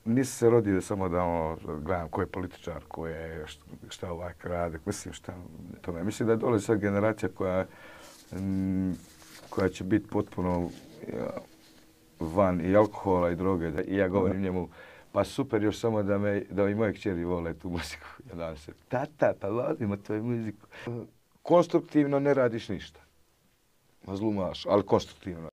nisam se rodio samo da gledam ko je političar, ko je, šta ovaj rade. Mislim, tome. Mislim da dolazi sad generacija koja će biti potpuno van i alkohola i droge. I ja govorim njemu, pa super, još samo da i moje kćeri vole tu muziku. Ja dan se, tata, pa volimo tvoju muziku. Konstruktivno ne radiš ništa. Zlumaš, ali konstruktivno.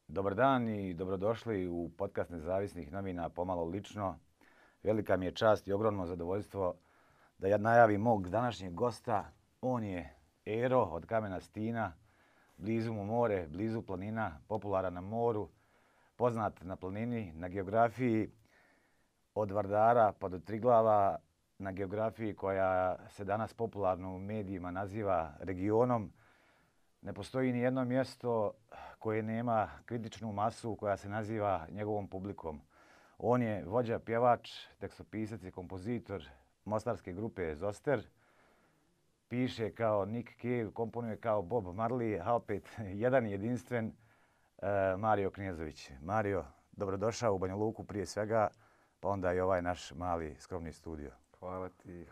Dobar dan i dobrodošli u podcast Nezavisnih novina Pomalo lično. Velika mi je čast i ogromno zadovoljstvo da ja najavim mog današnjeg gosta. On je Ero od Kamena Stina, blizu mu more, blizu planina, popularan na moru, poznat na planini, na geografiji od Vardara pa do Triglava, na geografiji koja se danas popularno u medijima naziva regionom. Ne postoji ni jedno mjesto koje nema kritičnu masu koja se naziva njegovom publikom. On je vođa, pjevač, tekstopisac i kompozitor mostarske grupe Zoster. Piše kao Nick Cave, komponuje kao Bob Marley, a opet jedan jedinstven Mario Knjezović. Mario, dobrodošao u Banja Luku prije svega, pa onda i ovaj naš mali skromni studio. Hvala ti,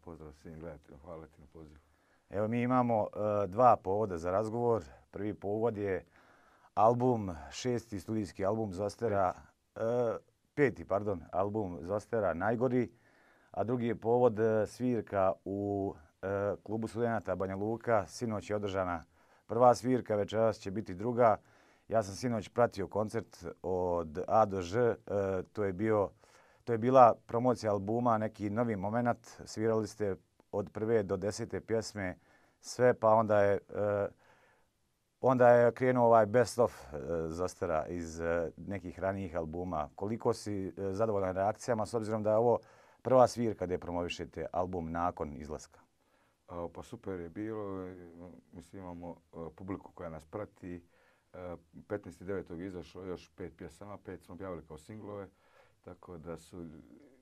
pozdrav svim gledateljima, hvala ti na pozivu. Evo mi imamo dva povoda za razgovor. Prvi povod je album, šesti studijski album Zostera, peti, pardon, album Zostera Najgori, a drugi je povod svirka u klubu studenata Banja Luka. Sinoć je održana prva svirka, večeras će biti druga. Ja sam sinoć pratio koncert od A do Ž, to je bila promocija albuma, neki novi moment. Svirali ste od prve do 10. pjesme sve, pa onda je krenuo ovaj best of Zostera iz nekih ranijih albuma. Koliko si zadovoljan reakcijama s obzirom da je ovo prva svirka gdje promovišete album nakon izlaska? Pa super je bilo. Mislim, imamo publiku koja nas prati. 15.9. izašlo još 5 pjesama, 5 smo objavili kao singlove, tako da su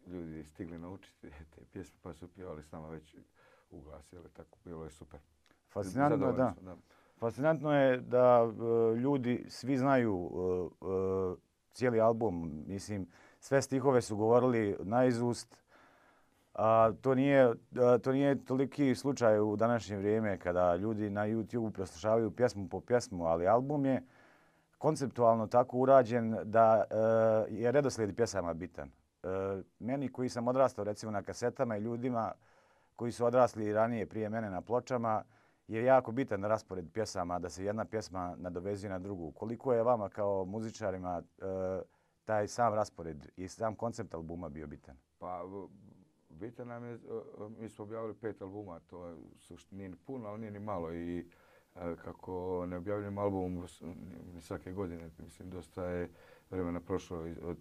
ljudi stigli naučiti te pjesme pa su pjevali s nama već uglasili, tako bilo je super. Fascinantno je, da. Fascinantno je da ljudi svi znaju cijeli album. Mislim, sve stihove su govorili naizust. To nije toliki slučaj u današnje vrijeme kada ljudi na YouTube preslušavaju pjesmu po pjesmu, ali album je konceptualno tako urađen da je redoslijed pjesama bitan. Meni koji sam odrastao recimo na kasetama i ljudima koji su odrasli ranije prije mene na pločama je jako bitan raspored pjesama, da se jedna pjesma nadovezuje na drugu. Koliko je vama kao muzičarima taj sam raspored i sam koncept albuma bio bitan? Pa bitan nam je, mi smo objavili 5 albuma, to nije ni puno, ali nije ni malo i kako ne objavljujem album svake godine, mislim dosta je vremena prošlo od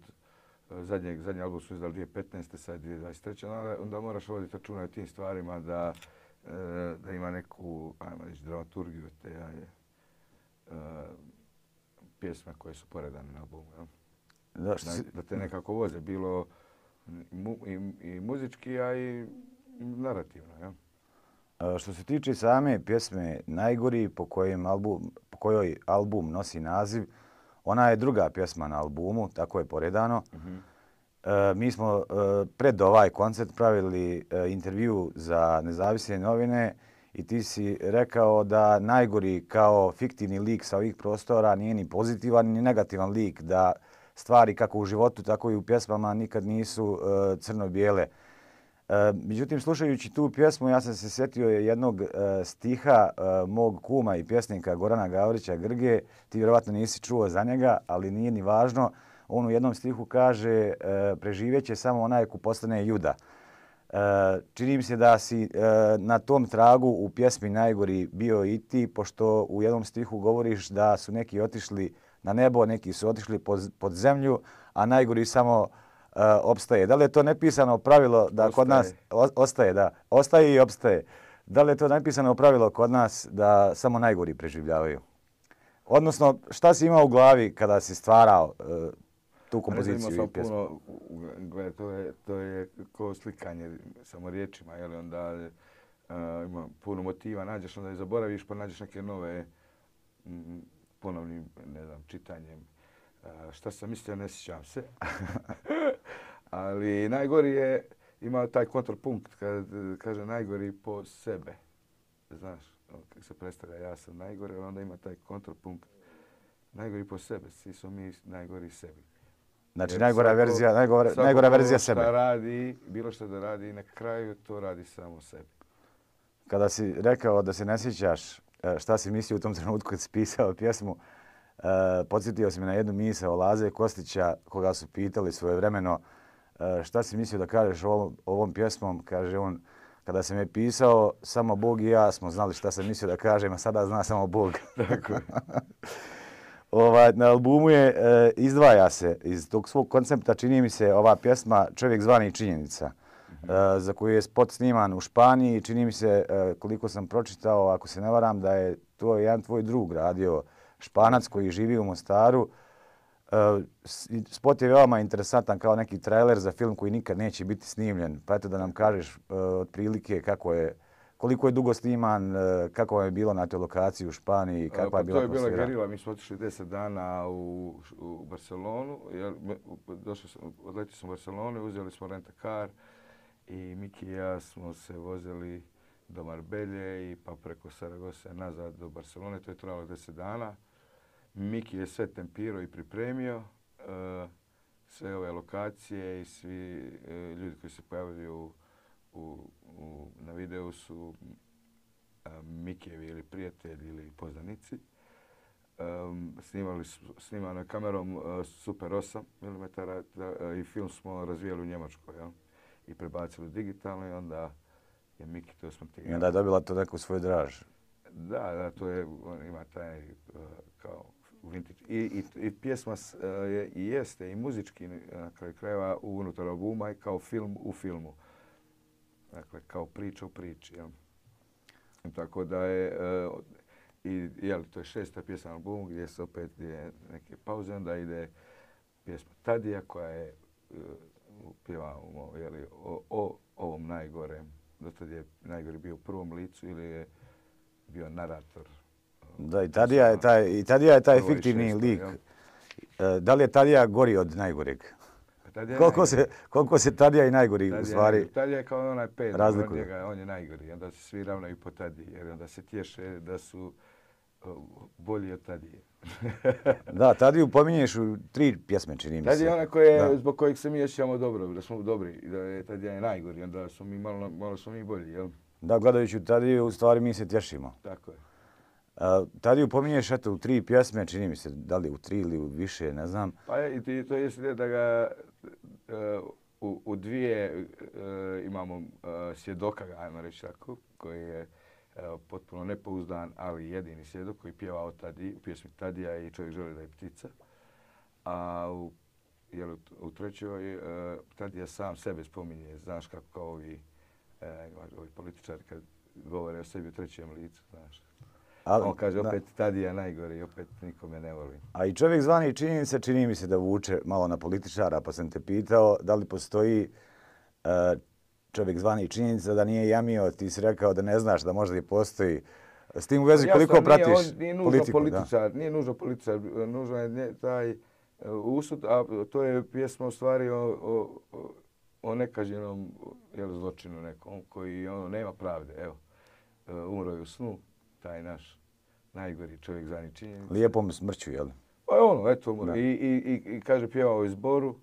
zadnji album su izdali 2015. sad 2023. Onda moraš voditi računa o tim stvarima da ima neku, ajmo reći, dramaturgiju te pjesme koje su poredane na albumu. Da te nekako voze, bilo i muzički, a i narativno. Ja? Što se tiče same pjesme Najgori, po kojoj album nosi naziv, ona je druga pjesma na albumu, tako je poredano. Mi smo pred ovaj koncert pravili intervju za Nezavisne novine i ti si rekao da Najgori kao fiktivni lik sa ovih prostora nije ni pozitivan ni negativan lik, da stvari kako u životu tako i u pjesmama nikad nisu crno-bijele. Međutim, slušajući tu pjesmu, ja sam se sjetio jednog stiha mog kuma i pjesnika Gorana Gavrića Grge. Ti vjerovatno nisi čuo za njega, ali nije ni važno. On u jednom stihu kaže preživjet će samo onaj ko postane juda. Čini mi se da si na tom tragu u pjesmi Najgori bio i ti, pošto u jednom stihu govoriš da su neki otišli na nebo, neki su otišli pod zemlju, a najgori samo opstaje. Da li je to nepisano pravilo da kod nas ostaje, da, ostaje i opstaje. Da li je to nepisano pravilo kod nas da samo najgori preživljavaju? Odnosno, šta si imao u glavi kada si stvarao tu kompoziciju i pjesmu? To je kao slikanje samo riječima, jel? Onda ima puno motiva, nađeš, onda i zaboraviš, pa nađeš neke nove ponovnim, ne znam, čitanjem. Šta sam mislio, ne sjećam se. Ali najgori je imao taj kontrapunkt kad kaže najgori po sebe. Znaš, kako se predstavlja ja sam najgori, ali onda ima taj kontrapunkt. Najgori po sebe, svi smo mi najgori sebi. Znači najgora verzija sebe. Bilo što da radi, na kraju to radi samo sebi. Kada si rekao da se ne sjećaš šta si mislio u tom trenutku kad si pisao pjesmu, podsjetio si me na jednu misao Laze Kostića, koga su pitali svojevremeno šta si mislio da kažeš ovom pjesmom. Kaže on, kada sam je pisao, samo Bog i ja smo znali šta sam mislio da kažem, a sada zna samo Bog. Tako je. Na albumu je, izdvaja se iz tog svog koncepta, čini mi se, ova pjesma Čovjek zvani činjenica, za koju je spot sniman u Španiji. Čini mi se, koliko sam pročitao, ako se ne varam, da je to jedan tvoj drug radio, Španac koji živi u Mostaru. Spot je veoma interesantan kao neki trailer za film koji nikad neće biti snimljen. Pa eto da nam kažeš otprilike koliko je dugo sniman, kako je bilo na toj lokaciji u Španiji, kakva je bila atmosfera. To je bila gerila, mi smo otišli 10 dana u Barcelonu. Odletili smo u Barcelonu, uzeli smo rent-a-car i Miki i ja smo se vozili do Marbelje i pa preko Saragose nazad do Barcelone. To je trajalo 10 dana. Miki je sve tempirao i pripremio, sve ove lokacije i svi ljudi koji se pojavljaju na videu su Mikijevi ili prijatelji ili poznanici. Snimano je kamerom Super 8 mm i film smo razvijali u Njemačkoj, jel? I prebacili digitalno i onda je Miki to smontirao. I onda je dobila to neku svoju draž. Da, to je, on ima taj kao vintage. I pjesma jeste i muzički na kraju krajeva unutar albuma i kao film u filmu. Dakle, kao priča u priči. Jel? Tako da je, to je 6. pjesma na albumu gdje se opet neke pauze, onda ide pjesma Tadija koja je pjeva o ovom najgorem. Dotad je najgori bio u prvom licu ili je bio narator. Da, i Tadija je taj fiktivni lik. Da li je Tadija gori od najgoreg? Koliko se Tadija i najgori u stvari Tadija je kao onaj pet, razlikuju. On je najgori. Onda se svi ravnaju po Tadiji, jer onda se tješe da su bolji od Tadije. Da, Tadiju pominješ u 3 pjesme, čini mi se. Tadija je ona zbog kojeg se mi osjećamo dobro, da smo dobri, da je Tadija je najgori, onda smo mi malo smo mi bolji, jel? Da, gledajući Tadiju, u stvari mi se tješimo. Tako je. Tadiju pominješ eto u 3 pjesme, čini mi se, da li u 3 ili u više, ne znam. Pa i to je da ga u 2 imamo svjedoka, ajmo reći tako, koji je potpuno nepouzdan, ali jedini svjedok koji pjeva o Tadiji, u pjesmi Tadija i Čovjek želi da je ptica. A u 3. Tadija sam sebe spominje, znaš kako kao ovi političari kad govore o sebi u 3. licu, znaš. On kaže opet Tadija najgori i opet nikome ne volim. A i Čovjek zvani činjenica čini mi se da vuče malo na političara, pa sam te pitao da li postoji Čovjek zvani činjenica da nije jamio, ti si rekao da ne znaš da možda i postoji. S tim u vezi koliko pratiš politiku? Nije nužno političar, nužno je taj usud, a to je pjesma u stvari o nekažnjenom zločinu nekom koji nema pravde. Evo, umro je u snu. Taj naš najgori čovjek zvani činjenica. Lijepom smrću, jel? Pa eto, i kaže pjevao u zboru,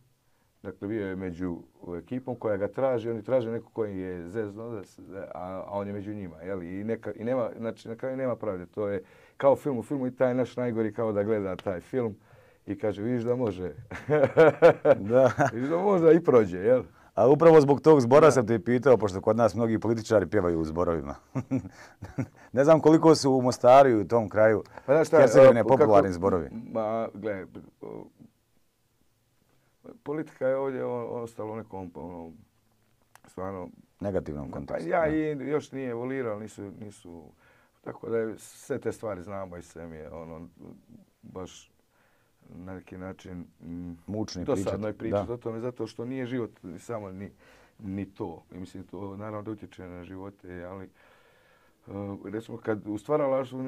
dakle bio je među ekipom koja ga traži, oni traže neko koji je zezno, a on je među njima, jel? I nema, znači na kraju nema pravde, to je kao film u filmu i taj naš najgori kao da gleda taj film i kaže vidiš da može, vidiš da možda i prođe, jel? A upravo zbog tog zbora sam te pitao, pošto kod nas mnogi političari pjevaju u zborovima. Ne znam koliko su u Mostaru i u tom kraju Hercegovine popularni zborovi. Gledaj, politika je ovdje ostalo u nekom stvarno negativnom kontekstu. Ja i još nije evoluirao, nisu, tako da sve te stvari znamo i sve mi je baš na neki način dosadno je pričati o tome, zato što nije život samo ni to. I mislim, to naravno da utječe na živote, ali recimo kad u stvaralaštvu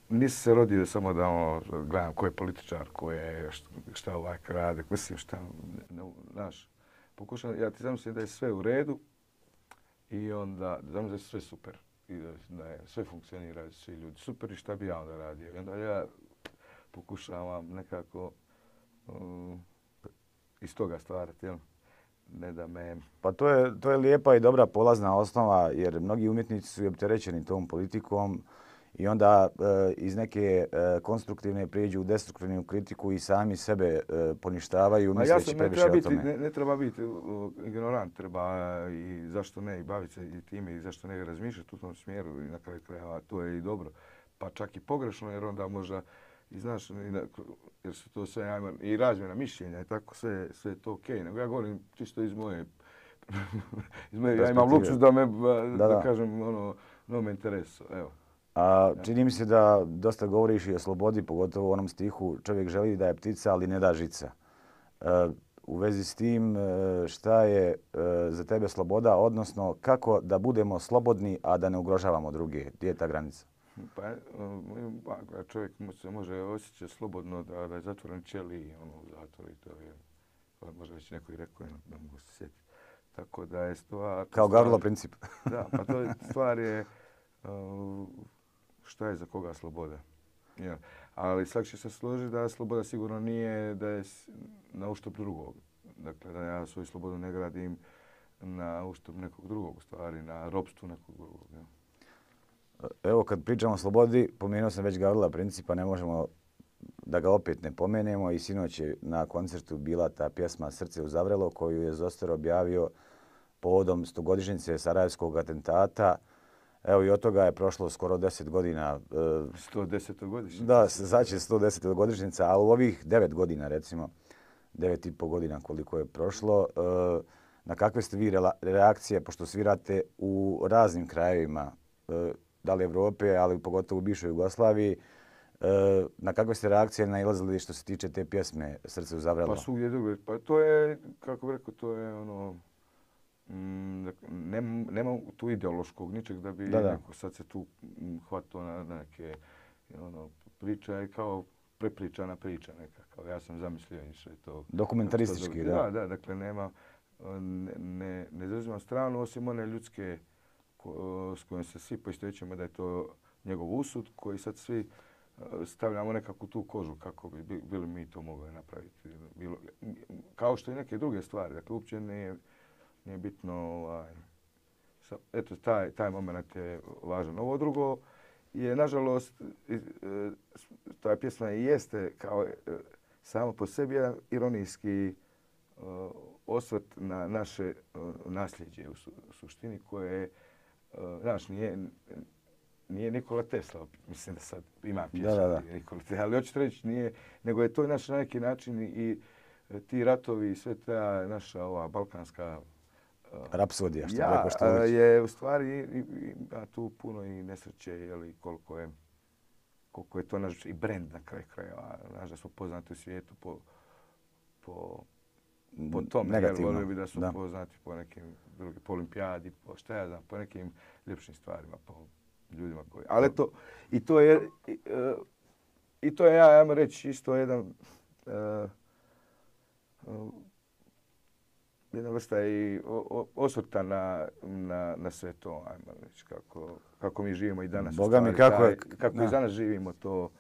nisi se rodio samo da gledam ko je političar, ko je šta ovaj rade, mislim šta, znaš, pokušam, ja ti zamislim da je sve u redu i onda zamislim da je sve super i da je sve funkcionira, svi ljudi super i šta bi ja onda radio. I onda ja pokušavam nekako iz toga stvarati, jel? Ne da me... Pa to je lijepa i dobra polazna osnova jer mnogi umjetnici su opterećeni tom politikom i onda iz neke konstruktivne prijeđu u destruktivnu kritiku i sami sebe poništavaju misleći previše o tome. Ne treba biti ignorant, treba i zašto ne i baviti se i time i zašto ne razmišljati u tom smjeru i na kraju krajeva to je i dobro. Pa čak i pogrešno jer onda možda i znaš, jer su to sve i razmjena mišljenja i tako sve je to okej. Nego ja govorim čisto iz moje ja imam luksus da kažem no me interesu, evo. A čini mi se da dosta govoriš i o slobodi, pogotovo u onom stihu čovjek želi da je ptica, ali ne da žica. U vezi s tim, šta je za tebe sloboda, odnosno kako da budemo slobodni, a da ne ugrožavamo druge? Gdje je ta granica? Pa čovjek se može osjećati slobodno da je zatvoren ćeliji u zatvoru i to je, možda već neko i rekao, ne mogu se sjetiti. Tako da je stvar... Kao Gavrilo princip. Da, pa to je stvar je šta je za koga sloboda. Ja. Ali svak će se složiti da sloboda sigurno nije da je na uštrb drugog. Dakle, da ja svoju slobodu ne gradim na uštrb nekog drugog, u stvari na ropstvu nekog drugog. Ja. Evo, kad pričamo o slobodi, pomenuo sam već Gavrila principa, ne možemo da ga opet ne pomenemo i sinoć je na koncertu bila ta pjesma Srce u Zavrelo koju je Zoster objavio povodom 100-godišnjice Sarajevskog atentata. Evo i od toga je prošlo skoro 10 godina. 110-godišnjica. Da, sad će 110-godišnjica, ali u ovih 9 godina recimo, 9,5 godina koliko je prošlo, na kakve ste vi reakcije, pošto svirate u raznim krajevima, da li Evrope, ali pogotovo u bivšoj Jugoslaviji, na kakve ste reakcije nailazili što se tiče te pjesme Srce u Zavrelo? Pa svugdje drugo. Pa to je, kako bih rekao, to je nema tu ideološkog ničeg da bi neko sad se tu hvatao na neke priča i kao prepričana priča neka. Kao ja sam zamislio i sve to. Dokumentaristički, da. Da, dakle nema, ne zauzimam stranu osim one ljudske s kojom se svi poistovjećujemo da je to njegov usud koji sad svi stavljamo nekakvu tu kožu kako bi bili mi to mogli napraviti. Kao što i neke druge stvari. Dakle, uopće nije bitno, eto, taj moment je važan. Ovo drugo je, nažalost, ta pjesma i jeste kao samo po sebi jedan ironijski osvrt na naše nasljeđe u suštini koje, znaš, nije Nikola Tesla, mislim da sad ima pjesma Nikola Tesla, ali hoću reći nije, nego je to naš na neki način i ti ratovi i sve ta naša ova balkanska rapsodija, što rekao što je u stvari ima tu puno i nesreće, jeli, koliko je to naš i brend na kraju krajeva. Znaš da smo poznati u svijetu po tome. Negativno. Volio bi da su poznati po nekim drugim, po olimpijadi, po šta ja znam, po nekim ljepšim stvarima, po ljudima koji... Ali to, i to je, ajmo reći, isto jedan jedna vrsta i osvrta na sve to, ajmo reći, kako mi živimo i danas. Boga mi, kako i danas živimo to.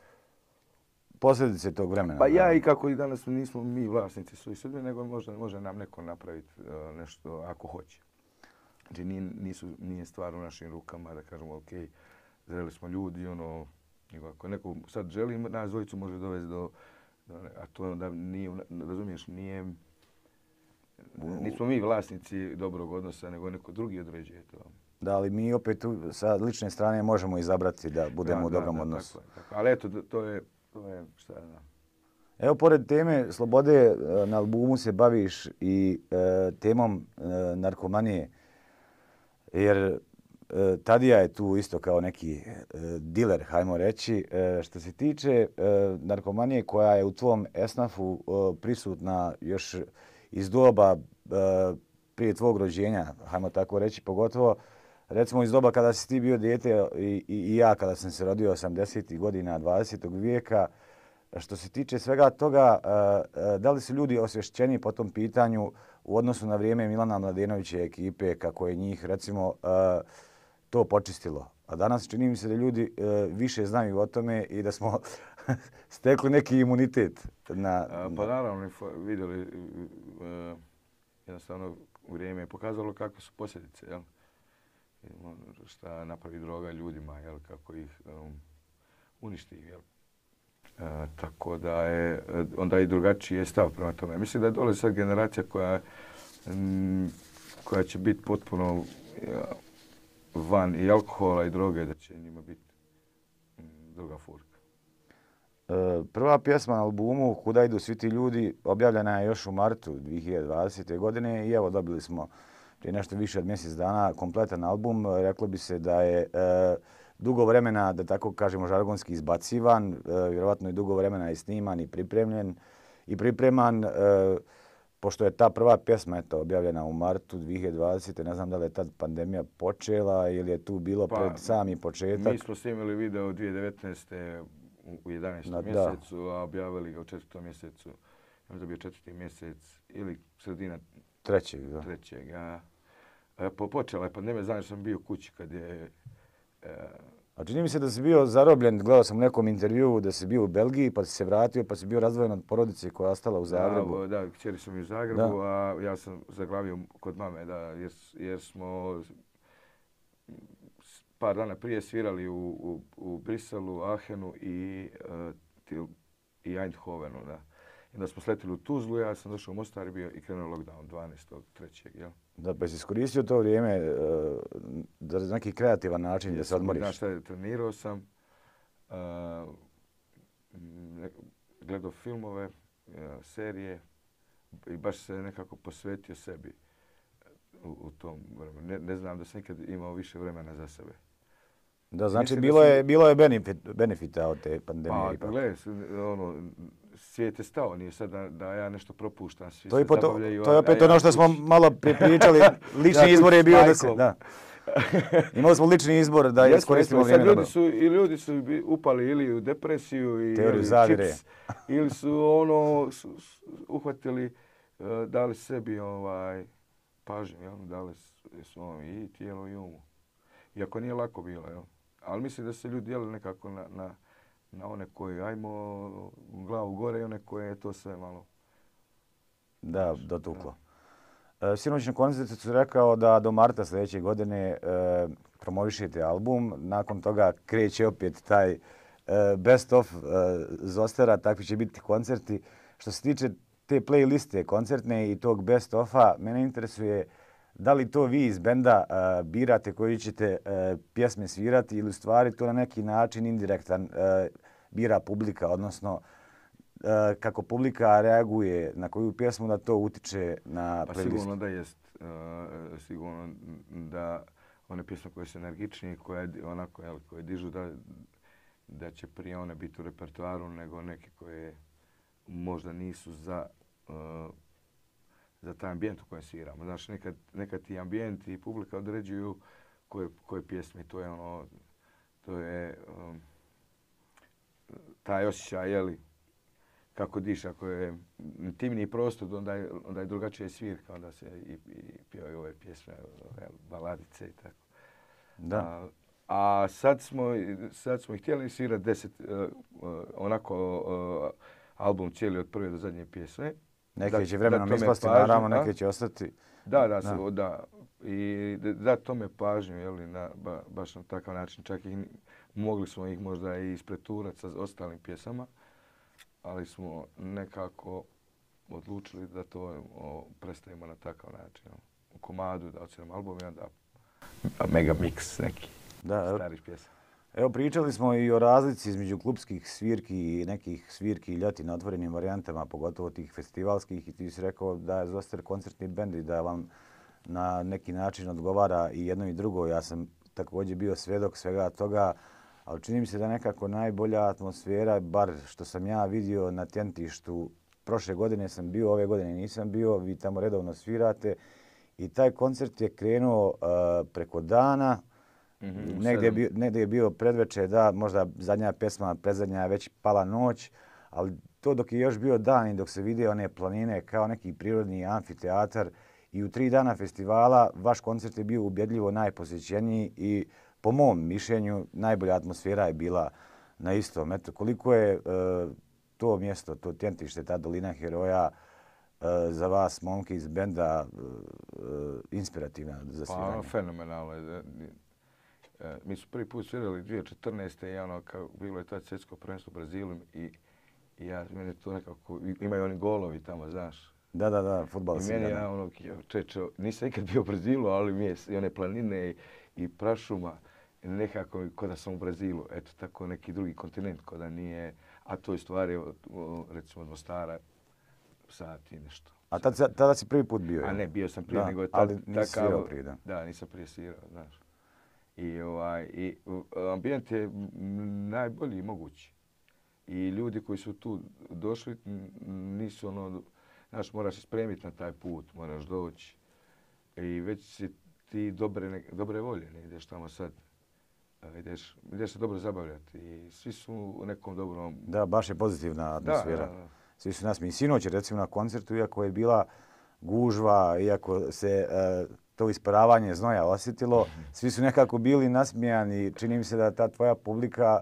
Posljedice tog vremena. Pa ja i kako i danas nismo mi vlasnici svojih sudbina, nego može nam neko napraviti nešto ako hoće. Znači nije stvar u našim rukama da kažemo ok, zreli smo ljudi, nego ako neko sad želi, nas dvojicu može dovesti a to onda nije, razumiješ, nismo mi vlasnici dobrog odnosa, nego neko drugi određuje to. Da, ali mi opet sa lične strane možemo izabrati da budemo u dobrom odnosu. Tako. Ali eto, to je šta je. Evo, pored teme slobode, na albumu se baviš i temom narkomanije, jer Tadija je tu isto kao neki diler, hajmo reći. Što se tiče narkomanije koja je u tvom esnafu prisutna još iz doba prije tvog rođenja, hajmo tako reći, pogotovo recimo iz doba kada si ti bio dijete i ja kada sam se rodio 80. godina 20. vijeka, što se tiče svega toga, da li su ljudi osvješćeni po tom pitanju u odnosu na vrijeme Milana Mladenovića ekipe, kako je njih recimo to počistilo? A danas čini mi se da ljudi više znaju o tome i da smo stekli neki imunitet. Pa naravno, vidjeli, jednostavno vrijeme je pokazalo kakve su posljedice, jel? Šta napravi droga ljudima, jel? Kako ih uništi, jel? Tako da je onda i drugačiji je stav prema tome. Mislim da je dole sad generacija koja će biti potpuno van i alkohola i droge, da će njima biti druga furka. Prva pjesma na albumu Kuda idu svi ti ljudi objavljena je još u martu 2020. godine i evo dobili smo prije nešto više od mjesec dana kompletan album. Reklo bi se da je dugo vremena, da tako kažemo žargonski, izbacivan, vjerovatno i dugo vremena je sniman i pripremljen i pripreman. Pošto je ta prva pjesma objavljena u martu 2020. Ne znam da li je tad pandemija počela ili je tu bilo pred sami početak. Mi smo snimili video 2019. u 11. mjesecu, a objavili ga u 4. mjesecu. Možda je bio 4. mjesec ili sredina trećeg. Počela je pandemija, znam što sam bio kući kad je... A čini mi se da si bio zarobljen, gledao sam u nekom intervjuu da si bio u Belgiji, pa si se vratio, pa si bio razdvojen od porodice koja je ostala u Zagrebu. Da, kćeri su mi u Zagrebu, a ja sam zaglavio kod mame, jer smo par dana prije svirali u Briselu, Aachenu i Eindhovenu. Da. I onda smo sletili u Tuzlu, ja sam došao u Mostar i krenuo lockdown 12.3. Jel? Da, pa si iskoristio to vrijeme za neki kreativan način da se odmoriš? Znaš šta, trenirao sam, gledao filmove, serije i baš se nekako posvetio sebi u tom vremenu. Ne znam da sam nikad imao više vremena za sebe. Da, znači bilo je benefita od te pandemije. Pa gledaj, svijet je stao, nije sad da ja nešto propuštam. Svi to je opet ono što smo malo pričali, lični izbor je bio da se... Da. Imali smo lični izbor da iskoristimo vrijeme. Ljudi su upali ili u depresiju i zavire. Ili su uhvatili, dali sebi pažnju, dali su i tijelo i umu. Iako nije lako bilo, jel? Ali mislim da se ljudi dijeli nekako na one koji ajmo glavu gore i one koje je to sve malo... Da, dotuklo. Sinoć na koncertu su rekao da do marta sljedeće godine promovišete album. Nakon toga kreće opet taj best of Zostera, takvi će biti koncerti. Što se tiče te playliste koncertne i tog best ofa, mene interesuje da li to vi iz benda birate koji ćete pjesme svirati ili u stvari to na neki način indirektan bira publika, odnosno kako publika reaguje na koju pjesmu da to utiče na playlistu? Sigurno da jest. Sigurno da one pjesme koje su energičnije, koje dižu, da će prije one biti u repertoaru nego neke koje možda nisu za taj ambijent u kojem sviramo. Znaš, nekad ti ambijent i publika određuju koje pjesme. To je taj osjećaj, jeli, kako diš, ako je intimniji prostor, onda je drugačija svirka, onda se i pjevaju ove pjesme, baladice i tako. Da. A sad smo ih htjeli svirati 10, album cijeli od prve do zadnje pjesme. Neke će vremenom ispasti, naravno, neke će ostati. Da. I da tome pažnju, jeli, baš na takav način. Čak mogli smo ih možda i ispreturati sa ostalim pjesama, ali smo nekako odlučili da to predstavimo na takav način. U komadu, da odsviramo album i onda mega mix neki starih pjesama. Evo, pričali smo i o razlici između klubskih svirki i nekih svirki ljeti na otvorenim varijantama, pogotovo tih festivalskih, i ti si rekao da je Zoster koncertni bend i da vam na neki način odgovara i jedno i drugo. Ja sam također bio svjedok svega toga, ali čini mi se da nekako najbolja atmosfera, bar što sam ja vidio na Tjentištu, prošle godine sam bio, ove godine nisam bio, vi tamo redovno svirate i taj koncert je krenuo preko dana. Negdje je bio predveče, da, možda zadnja pjesma, predzadnja je već pala noć, ali to dok je još bio dan i dok se vide one planine kao neki prirodni amfiteatar i u 3 dana festivala vaš koncert je bio ubjedljivo najposjećeniji i po mom mišljenju najbolja atmosfera je bila na istom. Eto, koliko je to mjesto, to tjentište, ta dolina heroja za vas, momke iz benda, inspirativna za sviranje? Pa, fenomenalno. Mi su prvi put svirali 2014. i ono, bilo je tad svjetsko prvenstvo u Brazilu i meni to nekako, imaju oni golovi tamo, znaš. Da, fudbal si. I meni ja ono, nisam ikad bio u Brazilu, ali mi je i one planine i prašuma, nekako ko da sam u Brazilu. Eto, tako neki drugi kontinent, ko da nije, a to je stvari, recimo od Mostara, sati nešto. A tada si prvi put bio? A ne, bio sam prije, nego je ali nisi svirao prije, da? Da, nisam prije svirao, znaš. I ambijent je najbolji mogući. I ljudi koji su tu došli nisu ono, znaš, moraš se spremiti na taj put, moraš doći. I već si ti dobre volje, ne ideš tamo sad. Ideš se dobro zabavljati i svi su u nekom dobrom... Da, baš je pozitivna atmosfera. Da. Svi su nasmijeni. Sinoć, recimo, na koncertu, iako je bila gužva, iako se to isparavanje znoja osjetilo, svi su nekako bili nasmijani. Čini mi se da ta tvoja publika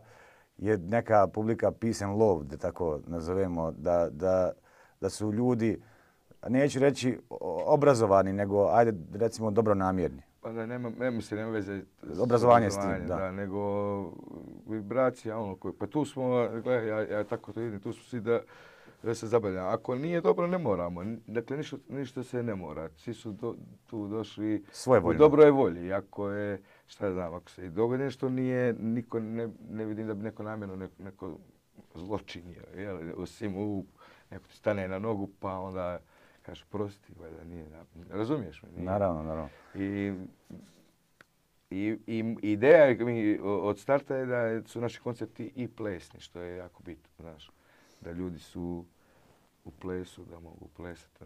je neka publika peace and love, da tako nazovemo, da su ljudi, neću reći obrazovani, nego, ajde, recimo, dobronamjerni. Pa da, nema veze s obrazovanje s tim, da. Nego vibracija, ono koji, pa tu smo, gledaj, ja tako to vidim, tu smo svi da se zabavljamo. Ako nije dobro, ne moramo. Dakle, ništa se ne mora. Svi su tu došli u dobroj volji. Ako je, šta znam, ako se i dogodi nešto nije, niko ne vidim da bi neko namjerno neko zločinio. Osim neko ti stane na nogu, pa onda kaže prosti, valjda nije. Razumiješ me? Nije. Naravno. I ideja od starta je da su naši koncerti i plesni, što je jako bitno, znaš. Da ljudi su u plesu, da mogu plesati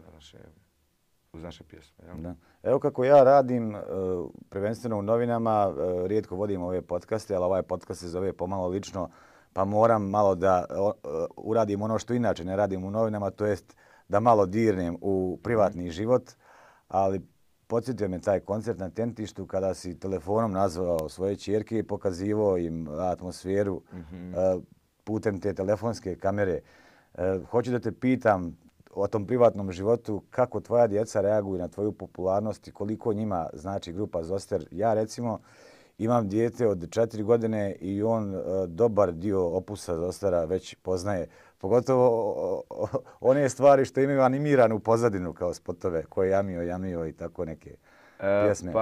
uz naše pjesme. Ja? Da. Evo kako ja radim, prvenstveno u novinama, rijetko vodim ove podcaste, ali ovaj podcast se zove Pomalo lično, pa moram malo da uradim ono što inače ne radim u novinama, to jest da malo dirnem u privatni život, ali podsjetio me taj koncert na tentištu kada si telefonom nazvao svoje ćerke i pokazivao im atmosferu putem te telefonske kamere. Hoću da te pitam o tom privatnom životu, kako tvoja djeca reaguju na tvoju popularnost i koliko njima znači grupa Zoster. Ja recimo imam dijete od 4 godine i on dobar dio opusa Zostera već poznaje. Pogotovo one stvari što imaju animiranu pozadinu kao spotove, ko je jamio i tako neke pjesme.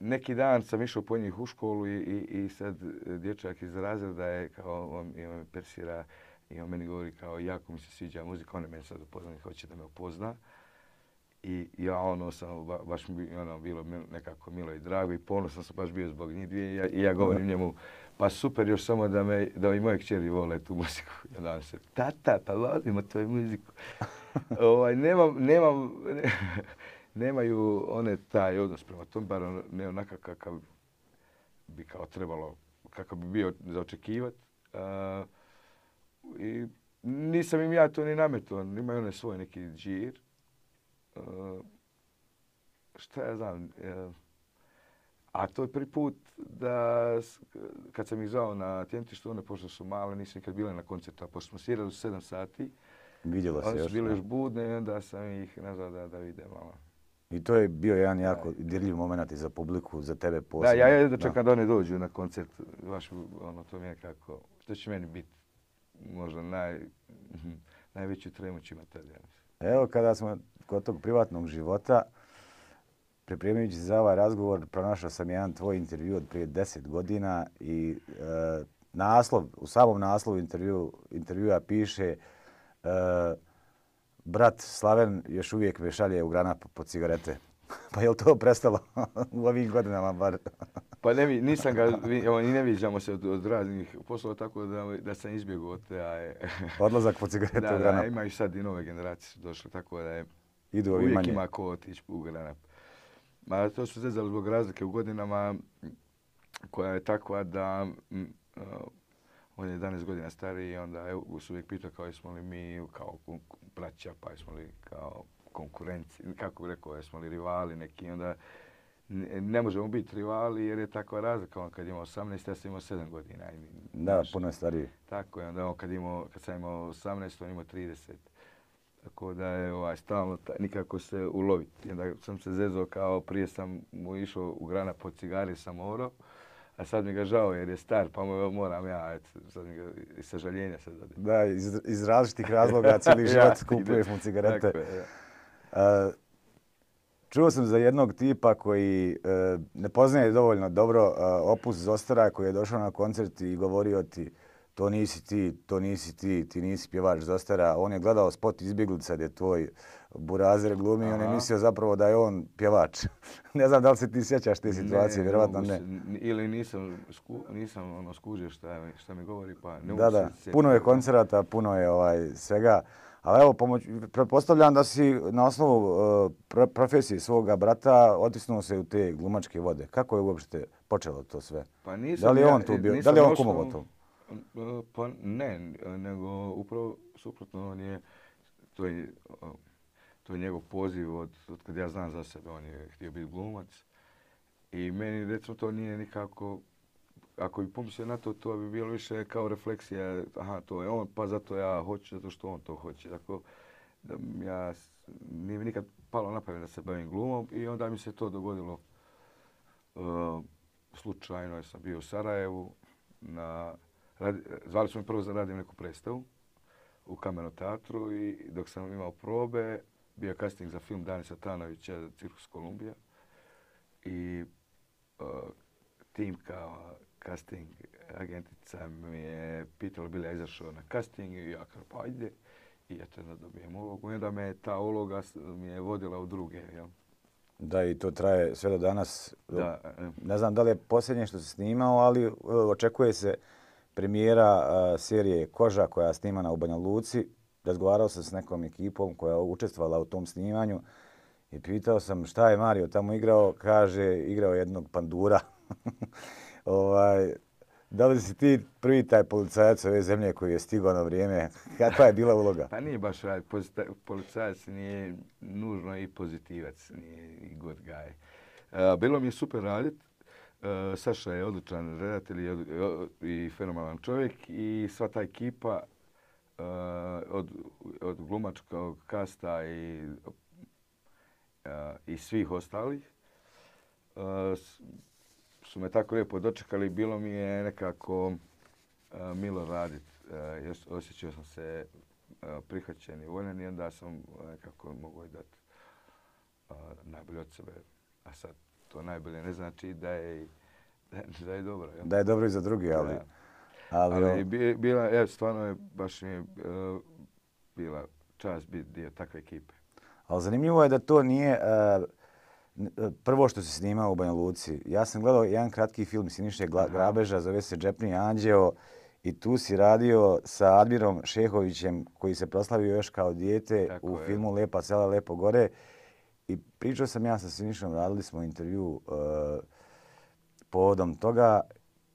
Neki dan sam išao po njih u školu i sad dječak iz razreda je kao, on me persira i on meni govori kao jako mi se sviđa muzika, on je meni sad upoznao i hoće da me upozna. I ja baš mi bilo nekako milo i drago i ponosan sam baš bio zbog njih dvije i ja govorim njemu pa super još samo da i moje kćeri vole tu muziku. Ja dajem se, tata, pa volimo tvoju muziku. Nemaju one taj odnos prema tom, bar ne onakav kakav bi kao trebalo, kakav bi bio za očekivati. I nisam im ja to ni nametao, imaju one svoj neki džir. Šta ja znam, a to je prvi put da kad sam ih zvao na tjentištu, one pošto su male, nisu nikad bile na koncertu, a pošto smo svirali u 7 sati, vidjelo se one još. su bile još budne i onda sam ih nazvao da vide malo. I to je bio jedan jako dirljiv moment i za publiku, za tebe posebno. Da, ja da čekam da oni dođu na koncert, baš to mi je kako, što će meni biti možda najveći tremuć ima tada. Evo kada smo kod tog privatnog života, pripremajući za ovaj razgovor, pronašao sam jedan tvoj intervju od prije 10 godina i u samom naslovu intervjua piše brat Slaven još uvijek me šalje u Granap po cigarete. Pa je li to prestalo u ovim godinama bar? Pa nisam ga, i ne viđamo se od raznih poslova, tako da sam izbjegao od te... Odlazak po cigaretu u Granap. Da, ima i sad i nove generacije su došle, tako da je uvijek ima ko otići u Granap. Ma to su zezali zbog razlike u godinama koja je takva da on je 11 godina stariji i onda su uvijek pitao kao jesmo li mi kao braća, pa jesmo li kao konkurenci, kako bi rekao, jesmo li rivali neki, onda ne možemo biti rivali jer je takva razlika. On kad ima 18, ja sam imao 7 godina. Da, puno je stariji. Tako je, onda on kad sam imao 18, on imao 30. Tako da je stalno nikako se uloviti. Onda sam se zezao kao prije sam mu išao u Granap po cigari sam morao, a sad mi ga žao jer je star, pa moram ja, sad mi ga iz sažaljenja se dade. Da, iz različitih razloga cijeli život kupuješ mu cigarete. Tako je, ja. Čuo sam za jednog tipa koji ne poznaje dovoljno dobro Opus Zostara, koji je došao na koncert i govorio ti to nisi ti, to nisi ti, ti nisi pjevač Zostara. On je gledao spot Izbjeglica gdje tvoj burazer glumi i on je mislio zapravo da je on pjevač. Ne znam da li se ti sjećaš te situacije, vjerojatno ne. Ili nisam skužio šta mi govori, pa ne mogu da, se sjetiti. Puno je koncerata, puno je svega. Ali evo, pretpostavljam da si na osnovu profesije svoga brata otisnuo se u te glumačke vode. Kako je uopšte počelo to sve? Pa nisam, da li je on tu bio? Da li je on kumovo to? Pa ne, nego upravo suprotno on je, to je njegov poziv od kad ja znam za sebe. On je htio biti glumac i meni recimo to nije nikako, ako bi pomislio na to, to bi bilo više kao refleksija, aha, to je on, pa zato ja hoću, zato što on to hoće. Tako da nije mi nikad palo na pamet da se bavim glumom i onda mi se to dogodilo slučajno. Ja sam bio u Sarajevu, zvali su me prvo da radim neku predstavu u Kamernom teatru i dok sam imao probe, bio je casting za film Dani Satanovića, Cirkus Kolumbija i tim kao casting agentica mi je pitala bi li ja izašao na casting i ja kao pa ide i eto da dobijem ulogu i onda me ta uloga mi je vodila u druge. Jel? Da, i to traje sve do danas. Da, ne znam da li je posljednje što se snimao, ali očekuje se premijera serije Koža koja je snimana u Banja Luci. Razgovarao sam s nekom ekipom koja je učestvovala u tom snimanju i pitao sam šta je Mario tamo igrao. Kaže, igrao jednog pandura. Da li si ti prvi taj policajac ove zemlje koji je stigao na vrijeme? Kakva je bila uloga? Pa nije baš policajac, nije nužno i pozitivac, nije i good guy. Bilo mi je super raditi. Saša je odličan redatelj i fenomenalan čovjek i sva ta ekipa od glumačkog kasta i svih ostalih su me tako lijepo dočekali. Bilo mi je nekako milo raditi. Osjećao sam se prihvaćen i voljen i onda sam nekako mogao dati najbolje od sebe. A sad to najbolje ne znači da je dobro. Jel? Da je dobro i za drugi, ali... Da. Stvarno je baš mi bila čast biti dio takve ekipe. Ali zanimljivo je da to nije prvo što se snimao u Banja Luci. Ja sam gledao jedan kratki film Siniše Grabeža, zove se Džepni anđeo i tu si radio sa Admirom Šehovićem koji se proslavio još kao dijete tako u filmu Lepa sela, lepo gore. I pričao sam ja sa Sinišom, radili smo intervju povodom toga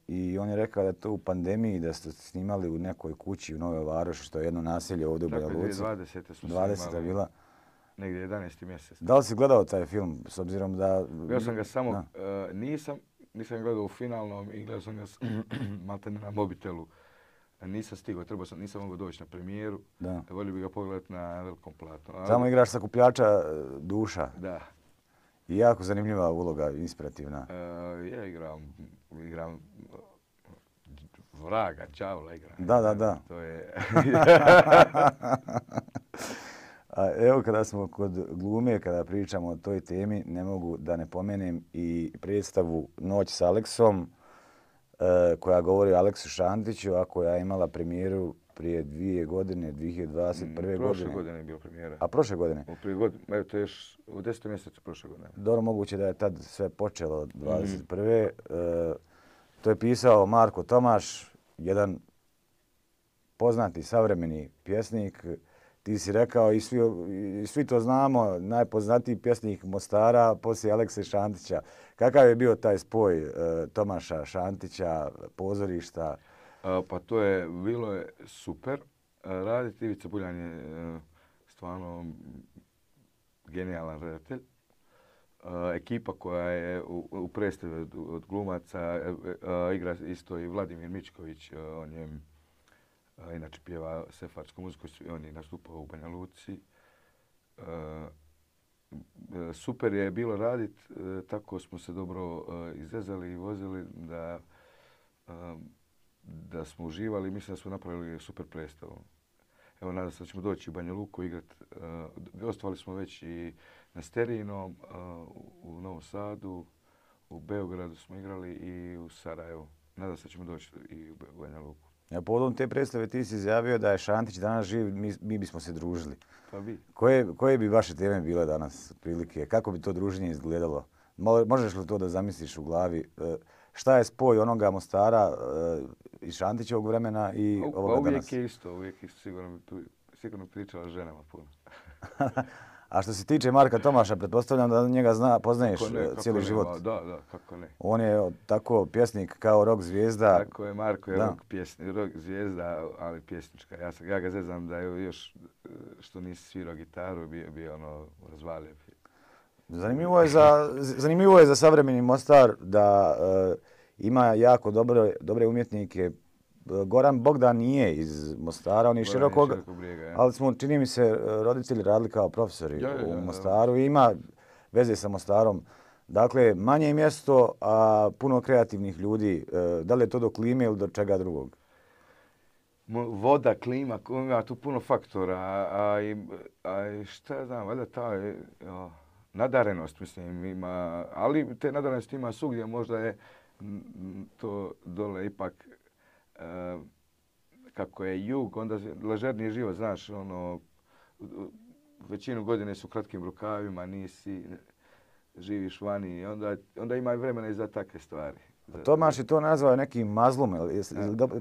i on je rekao da je to u pandemiji, da ste snimali u nekoj kući u Novoj Varoši, što je jedno naselje ovdje u Banja Luci. Tako je, 2020. smo 20. je bila. Negdje 11. mjesec. Da li si gledao taj film, s obzirom da... Ja sam ga samo, nisam gledao u finalnom i gledao sam ga maltene na mobitelu. Nisam stigao, nisam mogao doći na premijeru. Volio bih ga pogledati na velikom platnu. Samo igraš sakupljača duša. Da. I jako zanimljiva uloga, inspirativna. Ja igram vraga, đavla igram. Da. To je... Evo kada smo kod glume, kada pričamo o toj temi, ne mogu da ne pomenem i predstavu Noć s Aleksom, koja govori o Aleksu Šantiću, a koja je imala premijeru prije 2 godine, 2021. godine. Prošle godine je bila premijera. A prošle godine? Evo to je još u 10. mjesecu prošle godine. Dobro, moguće da je tad sve počelo 21. To je pisao Marko Tomaš, jedan poznati savremeni pjesnik. Ti si rekao i svi to znamo, najpoznatiji pjesnik Mostara poslije Alekse Šantića. Kakav je bio taj spoj Tomaša Šantića, pozorišta? Pa bilo je super raditi. Ivica Buljan je stvarno genijalan redatelj. Ekipa koja je u predstavi od glumaca igra isto i Vladimir Mičković, on je inače pjeva sefardsku muziku, on je nastupao u Banja Luci. Super je bilo raditi, tako smo se dobro izvezali i vozili da smo uživali. Mislim da smo napravili super predstavu. Evo, nadam se da ćemo doći u Banja Luku igrati. Gostovali smo već i na Sterinom, u Novom Sadu, u Beogradu smo igrali i u Sarajevu. Nadam se da ćemo doći i u Banja Luku. Povodom te predstave ti si izjavio da je Šantić danas živ, mi bismo se družili. Pa vi. Koje bi vaše teme bile danas prilike? Kako bi to druženje izgledalo? Možeš li to da zamisliš u glavi? Šta je spoj onoga Mostara iz Šantićevog vremena i ovoga danas? Uvijek je isto. Sigurno pričala ženama puno. A što se tiče Marka Tomaša, pretpostavljam da njega poznaješ cijeli život. Da, kako ne. On je tako pjesnik kao rock zvijezda. Tako je, Marko je rock zvijezda, ali pjesnička. Ja ga zezam da je još što nisi svirao gitaru, bio ono razvalio. Zanimljivo je za savremeni Mostar da ima jako dobre umjetnike. Goran Bogdan nije iz Mostara, on je Širokog Brijega, ali smo, čini mi se, roditelji radili kao profesori u Mostaru i ima veze sa Mostarom. Dakle, manje mjesto, a puno kreativnih ljudi. Da li je to do klime ili do čega drugog? Voda, klima, ima tu puno faktora, a šta ja znam, valjda ta nadarenost, mislim, ima, ali te nadarenosti ima svugdje, možda je to dole ipak kako je jug, onda ležerniji život, znaš, ono, većinu godine su u kratkim rukavima, živiš vani i onda ima i vremena i za takve stvari. Tomaš je to nazvao nekim mazlom,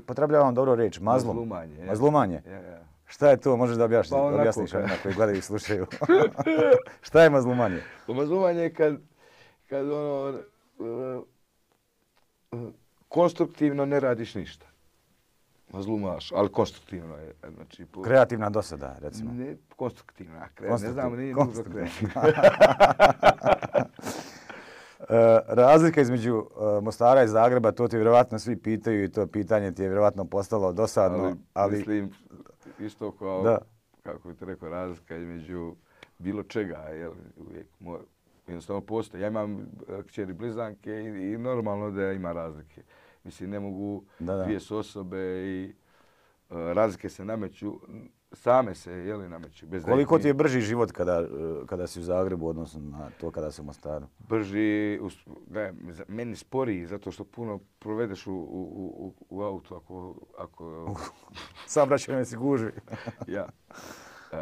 potrebljavam dobro reč, mazlom. Mazlumanje. Mazlumanje? Ja. Šta je to, možeš da objasniš onima koji gledaju i slušaju? Šta je mazlumanje? Mazlumanje je kad ono, konstruktivno ne radiš ništa. Mazlumaš, ali konstruktivno je. Znači, kreativna dosada, recimo. Ne, konstruktivna. Ne znam, nije nužno kreativna. Razlika između Mostara i Zagreba, to ti vjerovatno svi pitaju i to pitanje ti je vjerovatno postalo dosadno. Ali mislim, isto kao, kako bi te rekao, razlika između bilo čega, jel, uvijek jednostavno postoji. Ja imam kćeri blizanke i normalno da ima razlike. Mislim, ne mogu dvije su osobe i razlike se nameću, same se nameću. Koliko ti je brži život kada si u Zagrebu, odnosno na to kada si u Mostaru? Brži, meni sporiji, zato što puno provedeš u autu ako... Saobraćajnoj si gužvi. Ja.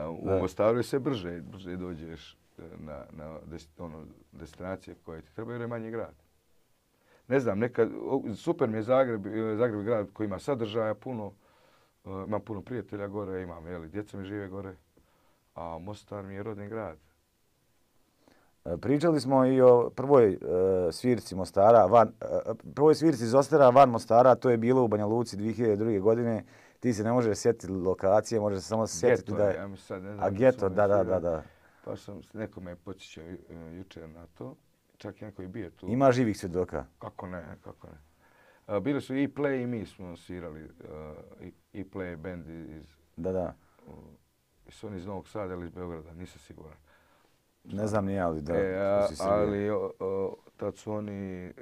U Mostaru je sve brže dođeš na destinacije koje ti trebaju jer je manji grad. Ne znam, super mi je Zagreb je grad koji ima sadržaja puno, imam puno prijatelja gore, imam, djeca mi žive gore, a Mostar mi je rodni grad. Pričali smo i o prvoj svirci Mostara, prvoj svirci iz Ostara van Mostara, to je bilo u Banja Luci 2002. godine. Ti se ne možeš sjetiti lokacije, možeš se samo sjetiti da je... Ja mi sad ne znam. A Geto, da. Pa neko me podsjećao jučer na to. Čak i neko je bio tu. Ima živih svjedoka? Kako ne. Bili su i Play i mi smo svirali. I Play band iz... Da. Su oni iz Novog Sada ili iz Beograda, nisam siguran. Ne znam ni ja, ali da. Ali tad su oni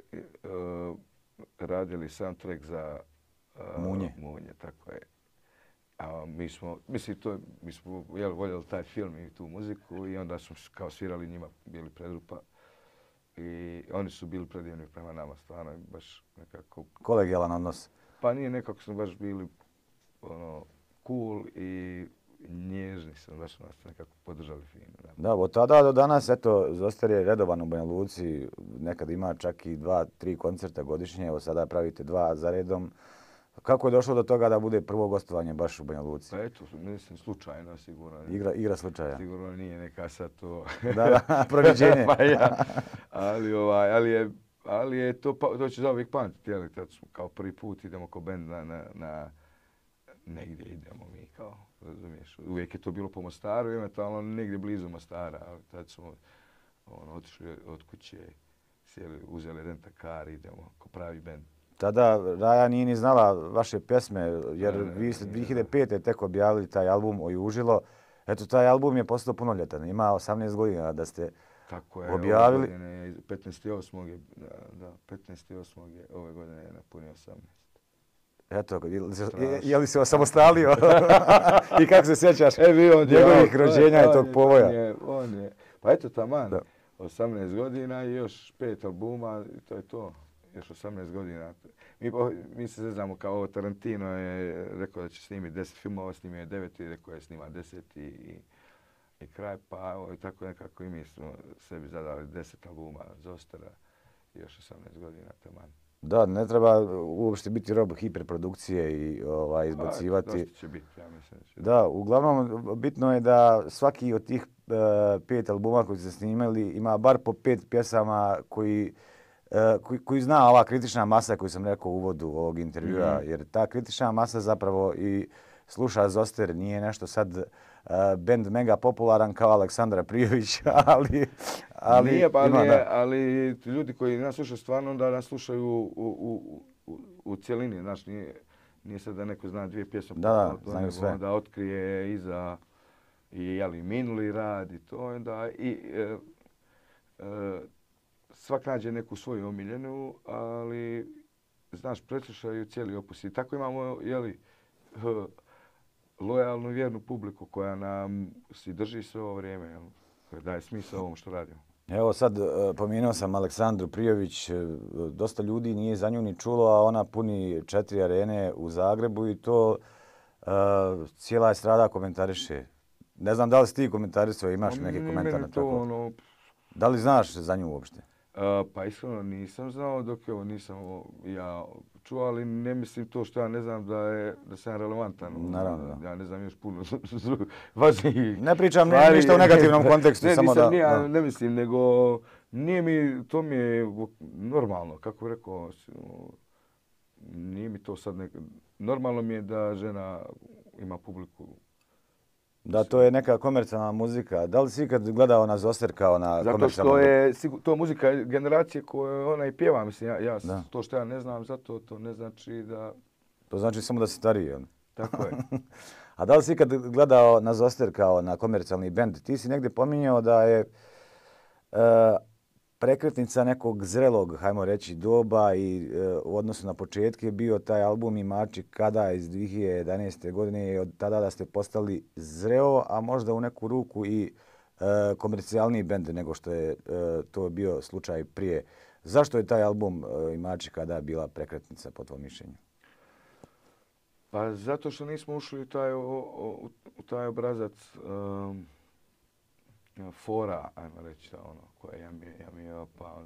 radili soundtrack za Munje, tako je. A mi smo voljeli taj film i tu muziku i onda smo kao svirali njima, bili predrupa. I oni su bili predivni prema nama, stvarno baš nekako... Kolegijalan odnos. Pa nije, nekako smo baš bili cool i nježni su, baš nas nekako podržali fino. Da, od tada do danas, eto, Zoster je redovan u Banja Luci, nekad ima čak i 2-3 koncerta godišnje, evo sada pravite 2 za redom. Kako je došlo do toga da bude prvo gostovanje baš u Banja Luci? Pa eto, mislim, slučajno sigurno. Igra slučaja. Sigurno nije neka sad to... Da, proviđenje. Pa ja. Ali je to će zauvijek pamtiti, jel? Kao prvi put idemo kao bend na negdje idemo mi kao, razumiješ. Uvijek je to bilo po Mostaru, eventualno negdje blizu Mostara, ali tad smo otišli od kuće, sjeli, uzeli rentakar, idemo kao pravi bend. Tada Raja nije ni znala vaše pjesme, jer vi ste 2005. tek objavili taj album Ojužilo. Eto, taj album je postao punoljetan, ima 18 godina da ste tako je, objavili. 15.8. ove godine je napunio 18. Eto, je li se osamostalio? I kako se sjećaš njegovih rođenja i tog povoja? On je. Pa eto taman, 18 godina i još 5 albuma i to je to. Još 18 godina. Mi se znamo kao Tarantino je rekao da će snimiti 10 filmova, snimio je 9 i rekao je snima 10 i kraj. Pa tako nekako i mi smo sebi zadali 10 albuma Zostera i još 18 godina taman. Da, ne treba uopšte biti rob hiperprodukcije i izbacivati. Dosta će biti, ja mislim. Da, uglavnom bitno je da svaki od tih 5 albuma koji ste snimali ima bar po 5 pjesama koji zna ova kritična masa koju sam rekao u uvodu ovog intervjua, jer ta kritična masa zapravo i sluša Zoster, nije nešto sad bend mega popularan kao Aleksandra Prijović, ali nije, ima, ali ljudi koji nas slušaju stvarno da nas slušaju u cijelini, znaš, nije sad da neko zna 2 pjesme, znaju sve. Onda otkrije iza i minuli rad i to, onda svak nađe neku svoju omiljenu, ali znaš, preslušaju cijeli opus. I tako imamo, lojalnu, vjernu publiku koja nam si drži sve ovo vrijeme, koja daje smisao ovom što radimo. Evo sad, pomenuo sam Aleksandru Prijović, dosta ljudi nije za nju ni čulo, a ona puni 4 arene u Zagrebu i to cijela estrada komentariše. Ne znam da li si ti komentarisao, imaš neki komentar na tako? Da li znaš za nju uopšte? Pa iskreno nisam znao dok nisam ja čuo, ali ne mislim to što ja ne znam da sam relevantan. Naravno, da. Ja ne znam još puno važnijih. Ne pričam ništa u negativnom kontekstu, samo da... Ne mislim, nego nije mi, to mi je normalno, kako bih rekao, nije mi to sad normalno mi je da žena ima publiku. Da, to je neka komercijalna muzika. Da li si ikad gledao na Zoster kao na komercijalnu muziku? Zato što je to muzika generacije koju ona i pjeva. Mislim, to što ja ne znam, zato to ne znači da... To znači samo da si stariji, jel? Tako je. A da li si ikad gledao na Zoster kao na komercijalni bend? Ti si negdje pominjao da je prekretnica nekog zrelog, hajmo reći, doba i u odnosu na početke bio taj album Imači kada iz 2011. godine i od tada da ste postali zreo, a možda u neku ruku i komercijalniji bend nego što je to bio slučaj prije. Zašto je taj album Imači kada bila prekretnica po tvojom mišljenju? Pa zato što nismo ušli u taj obrazac fora, ajmo reći, koje ja pa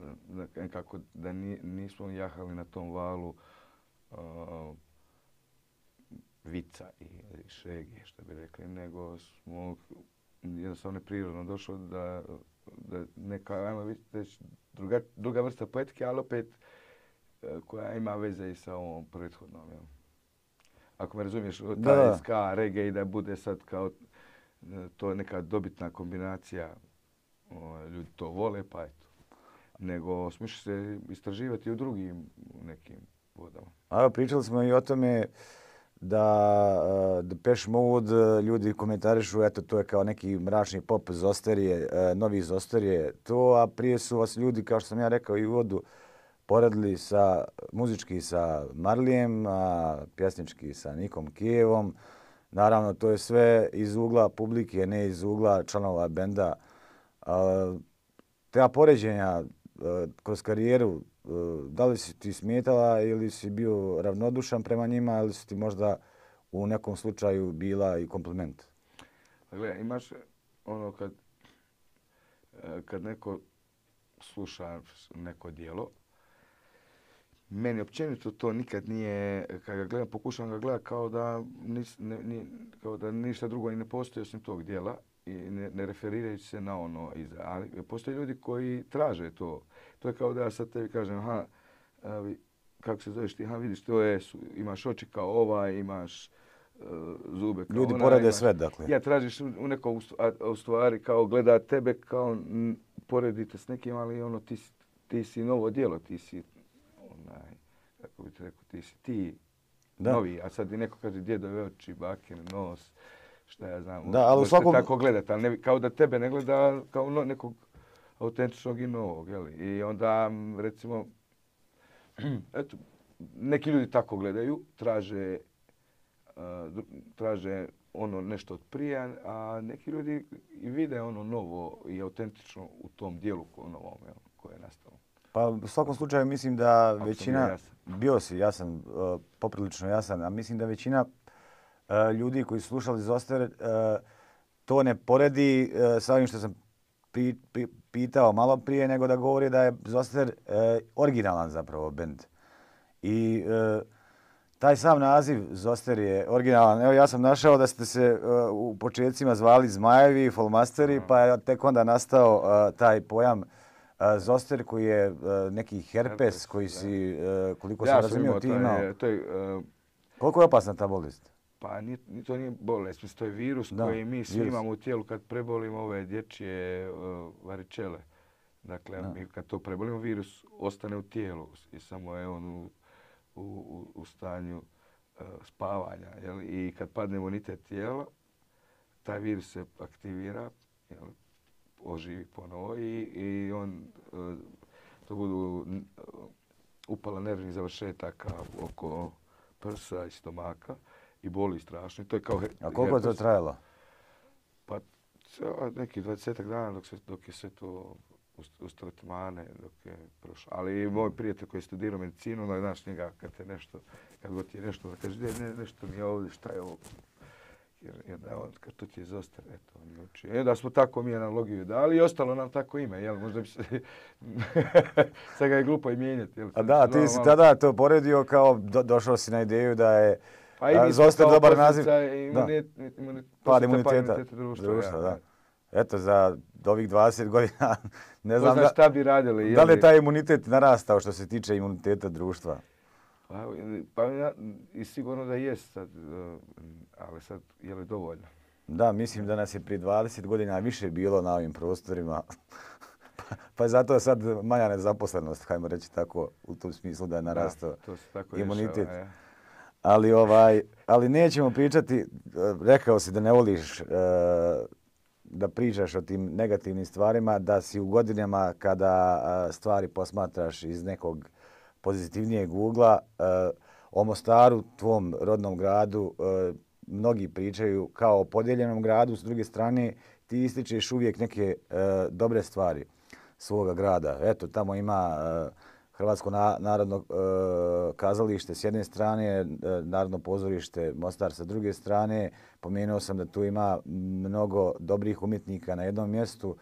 nekako da nismo jahali na tom valu vica i šege, što bi rekli, nego smo jednostavno prirodno došlo da neka, ajmo reći, druga vrsta poetike, ali opet koja ima veze i sa ovom prethodnom. Jel? Ako me razumiješ, taj ska, reggae i da bude sad kao to je neka dobitna kombinacija, ljudi to vole, pa eto. Nego smiš se istraživati u drugim nekim vodama. A pričali smo i o tome da Depeche Mode ljudi komentarišu, eto to je kao neki mračni pop Zosterije, novi Zosterije to, a prije su vas ljudi, kao što sam ja rekao i u uvodu, poredili muzički sa Marlijem, a pjesnički sa Nikom Kijevom. Naravno, to je sve iz ugla publike, ne iz ugla članova benda. Te poređenja kroz karijeru, da li si ti smetala ili si bio ravnodušan prema njima ili su ti možda u nekom slučaju bila i kompliment. Gledaj, imaš ono kad neko sluša neko djelo, meni općenito to nikad nije, kad ga gledam, pokušavam ga gledati kao da ništa drugo i ne postoji osim tog djela i ne referirajući se na ono iza. Ali postoje ljudi koji traže to. To je kao da ja sad tebi kažem, aha, kako se zoveš ti, aha, vidiš, imaš oči kao ovaj, imaš zube kao Ljudi ona. porede sve, dakle. Ja tražiš u nekom u stvari kao gleda tebe, kao poredite s nekim, ali ono ti si novo djelo, ti si kako bi ti rekao, ti novi, a sad i neko kaže djedove oči, bakine, nos, šta ja znam. Da, ali u svakom... tako gledati, ali kao da tebe ne gleda kao nekog autentičnog i novog, jeli? I onda, recimo, eto, neki ljudi tako gledaju, traže ono nešto od prije, a neki ljudi i vide ono novo i autentično u tom dijelu novom koje je nastalo. Pa u svakom slučaju mislim da većina, bio si jasan, poprilično jasan, a mislim da većina ljudi koji su slušali Zoster to ne poredi sa ovim što sam pitao malo prije, nego da govori da je Zoster originalan zapravo bend. I taj sam naziv Zoster je originalan. Evo ja sam našao da ste se u početcima zvali Zmajevi, Folmasteri, pa je tek onda nastao taj pojam Zoster koji je neki herpes koji si, koliko sam razumio, ti imao. Koliko je opasna ta bolest? Pa to nije bolest, mislim, to je virus koji mi svi imamo u tijelu kad prebolimo ove dječje varičele. Dakle, mi kad to prebolimo, virus ostane u tijelu i samo je on u stanju spavanja. Jel? I kad padne imunitet tijela, taj virus se aktivira, jel? Oživi ponovo i on to budu upala nervnih završetaka oko prsa i stomaka i boli strašno. To je kao a koliko je to trajalo? Pa neki 20 dana dok je sve to uz tretmane, dok je prošlo. Ali moj prijatelj koji je studirao medicinu, znaš njega kad god ti je nešto, da kaže nešto mi je ovdje, šta je ovo? Jer kad to ti je Zoster, eto, on uči. Da smo tako mi analogiju dali i ostalo nam tako ime, jel? Možda bi se... Sad ga je glupo i mijenjati, jel? A da, ti si tada to poredio kao došao si na ideju da je Zoster dobar naziv. Pad imuniteta društva, da. Eto, za ovih 20 godina ne znam šta bi radili. Da li je taj imunitet narastao što se tiče imuniteta društva? Pa i sigurno da jest sad, ali sad je li dovoljno? Da, mislim da nas je prije 20 godina više bilo na ovim prostorima. Pa je zato sad manja nezaposlenost, hajmo reći tako, u tom smislu da je narastao imunitet. Ali nećemo pričati, rekao si da ne voliš da pričaš o tim negativnim stvarima, da si u godinama kada stvari posmatraš iz nekog pozitivnijeg ugla, o Mostaru, tvom rodnom gradu, mnogi pričaju kao o podijeljenom gradu, s druge strane ti ističeš uvijek neke dobre stvari svoga grada. Eto, tamo ima Hrvatsko narodno kazalište s jedne strane, Narodno pozorište Mostar sa druge strane. Pomenuo sam da tu ima mnogo dobrih umjetnika na jednom mjestu.